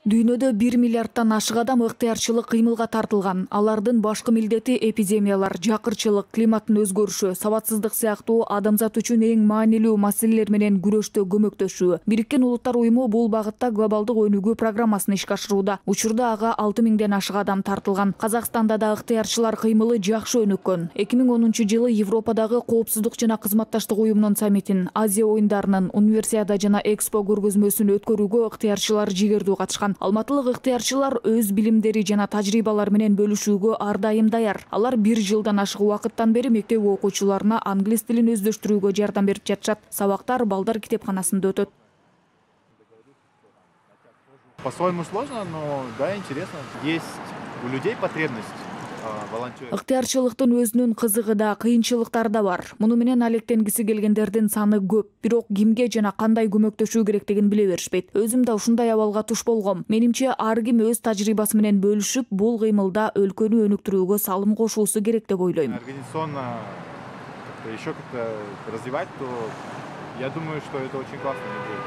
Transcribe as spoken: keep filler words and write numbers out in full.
Дүйнөдө бир миллиардтан ашык адам ыктыярчылык кыймылга тартылган. Алардын башкы милдети эпидемиялар, жакырчылык, климаттын өзгөрүшү, сабатсыздык сыяктуу адамзат үчүн эң маанилүү маселелер менен күрөштө көмөктөшүү. Бириккен Улуттар уюму бул багытта глобалдык өнүгүү программасын ишке ашырууда. Учурда ага алты миңден ашык адам тартылган. Казакстанда да ыктыярчылар кыймылы жакшы өнүккөн. эки миң онунчу жылы Европадагы Коопсуздук жана кызматташтык уюмунун саммитин, Азия оюндарынын, Универсиада жана Экспо көргөзмөсүн өткөрүүгө ыктыярчылар жигердүү катышкан. Алматылык ыктыярчылар өз билимдери жана тажрыйбалары менен бөлүшүүгө ар дайым даяр. Алар бир жылдан ашык убакыттан бери мектеп окуучуларына англис тилин өздөштүрүүгө жардам берип жатышат. Сабактар балдар китепканасында өтөт. По-своему сложно, но да, интересно. Есть у людей потребность. Ыктыярчылыктын өзүнүн кызыгы да, кыйынчылыктары да бар. Муну менен алектенгиси келгендердин саны көп. Бирок кимге жана кандай көмөктөшүү керектигин биле беришпейт. Өзүм да ушундай абалга туш болгом. Менимче ар ким өз тажрыйбасы менен бөлүшүп, бул кыймылда өлкөнү өнүктүрүүгө салым кошуусу керек деп ойлойм. Организационно еще как-то развивать, то я думаю, что это очень классно.